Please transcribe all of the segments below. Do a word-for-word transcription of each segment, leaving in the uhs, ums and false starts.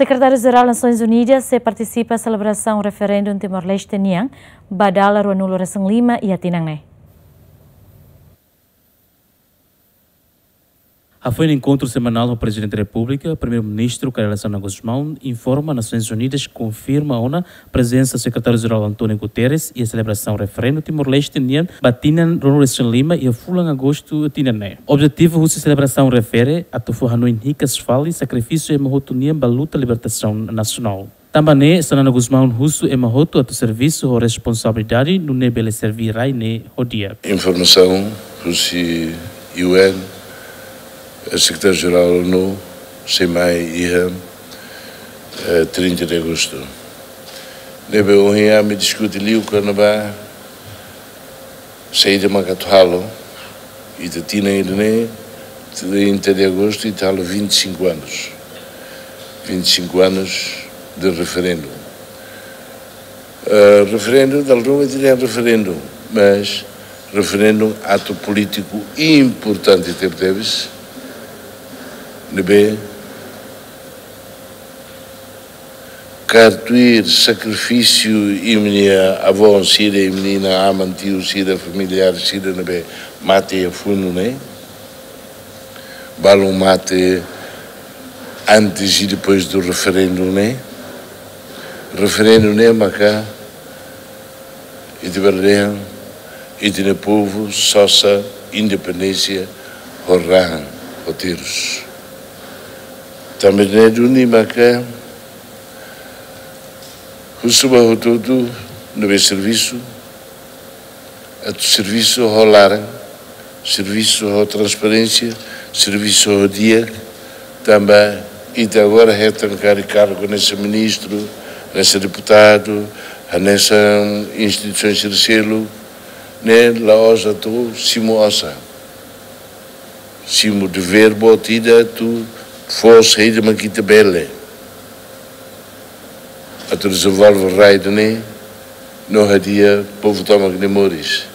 Sekretáriu-Jerál Nasoins Unidas sei partisipa selebrasaun referendu Timor-Leste nian ba dala rua nulu resin lima iha tinan ne'e. Hafoin enkontru semanál ho Prezidente Repúblika, Primeiru-Ministru Kay Rala Xanana Gusmão informa Nasoins Unidas konfirma ona prezensa Sekretáriu-Jerál António Guterres iha selebrasaun referendu Timor-Leste nian ba tinan rua nulu resin lima iha fulan Agostu tinan ne'e. Objetivu husi selebrasaun refere atu fó hanoin hikas fali sakrifísiu ema hotu nian ba luta libertasaun nasionál. Tanba ne'e, Xanana Gusmão husu ema hotu atu servisu ho responsabilidade nune'e bele serve rai ne'e ho di'ak. Informasaun husi U N, eh, Sekretáriu-Jerál ONU, sei mai iha, eh, trinta de Agosto. Ne'ebé ohin ami diskute liu kona-ba saida mak atu halo, ita tinan ida-ne'e, trinta de Agosto, ita halo vinte e cinco anos. Vinte e cinco anos de referendu. Eh, referendu, dala ruma ita dehan referendu, mas referendu atu polítiku importante tebetebes, ne'ebé kaer tuir sakrifísiu imi-nia avó sira, imi-nia aman, tiu sira, familiár sira ne'ebé mate iha funu ne'e. Balun mate antes e depois do referendu ne'e. Referendu ne'e maka ita bele dehan ita-nia povu sosa independénsia ho rahun, ho terus. Tanba ne'e duni maka husu ba hotu-hotu ne'ebé servisu, atu servisu ho laran, servisu ho transparénsia, servisu ho di'ak, tanba ita agora hetan karik kargu hanesan ministru, hanesan deputadu, hanesan instituisaun sira seluk, ne'e la'ós atu simu osan. Simu devér boot ida atu fó saida mak ita bele atu dezenvolve rai ida-ne'e no hadi'a povu tomak nia moris.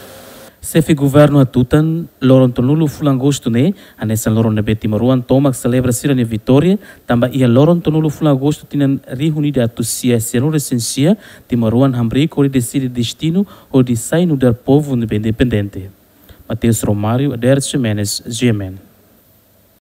Xefe Governu hatutan, loron tolunulu fulan Agostu ne'e hanesan loron ne'ebé timoroan tomak selebra sira-nia vitória, tanba iha loron tolunulu fulan Agostu tinan rihun ida atus sia sianulu resin sia, timoroan hamriik hodi deside destinu hodi sai nu'udar povu ne'ebé independente. Mateus Romário, Ader Ximenes, G M N.